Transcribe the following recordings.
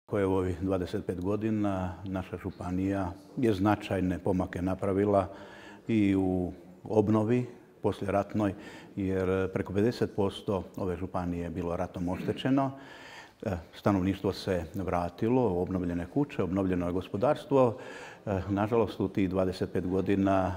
Koje u ovih 25 godina naša županija je značajne pomake napravila i u obnovi poslijeratnoj, jer preko 50% ove županije je bilo ratom oštećeno. Stanovništvo se vratilo, obnovljene kuće, obnovljeno je gospodarstvo. Nažalost, u tih 25 godina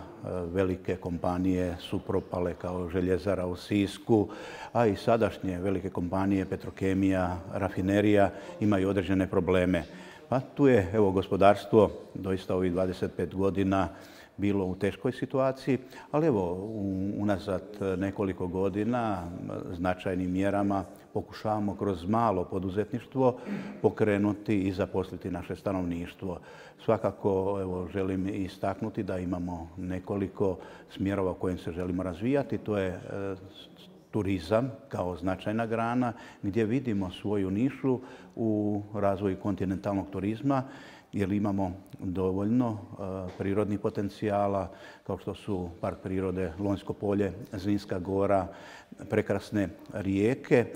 velike kompanije su propale kao Željezara u Sisku, a i sadašnje velike kompanije, Petrokemija, Rafinerija imaju određene probleme. Pa tu je gospodarstvo doista ovih 25 godina bilo u teškoj situaciji, ali unazad nekoliko godina značajnim mjerama pokušavamo kroz malo poduzetništvo pokrenuti i zaposliti naše stanovništvo. Svakako želim istaknuti da imamo nekoliko smjerova u kojim se želimo razvijati. To je turizam kao značajna grana gdje vidimo svoju nišu u razvoju kontinentalnog turizma, jer imamo dovoljno prirodnih potencijala kao što su Park prirode Lonjsko polje, Zrinska gora, prekrasne rijeke.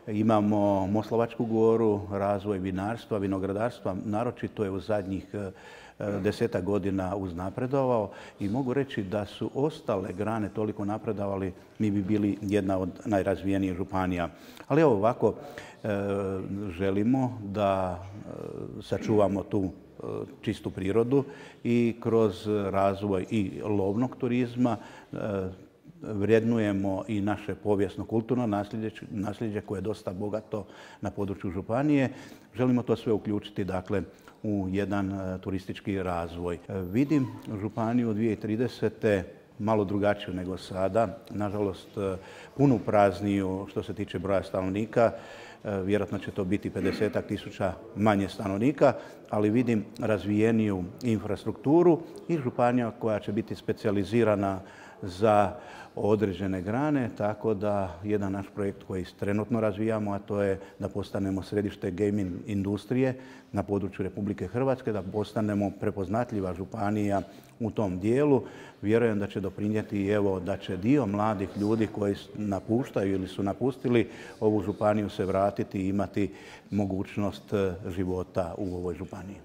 Imamo Moslavačku goru, razvoj vinarstva, vinogradarstva, naročito je u zadnjih 10 godina uznapredovao i mogu reći da su ostale grane toliko napredovali, mi bi bili jedna od najrazvijenijih županija. Ali ovako želimo da sačuvamo tu čistu prirodu i kroz razvoj i lovnog turizma vrednujemo i naše povijesno-kulturno nasljeđe koje je dosta bogato na području županije. Želimo to sve uključiti u jedan turistički razvoj. Vidim županiju 2030. malo drugačiju nego sada. Nažalost, puno prazniju što se tiče broja stanovnika. Vjerojatno će to biti 50 tisuća manje stanovnika, ali vidim razvijeniju infrastrukturu i županija koja će biti specijalizirana za određene grane, tako da jedan naš projekt koji trenutno razvijamo, a to je da postanemo središte gaming industrije na području Republike Hrvatske, da postanemo prepoznatljiva županija u tom dijelu. Vjerujem da će doprinijeti i da će dio mladih ljudi koji napuštaju ili su napustili ovu županiju se vratiti i imati mogućnost života u ovoj županiji.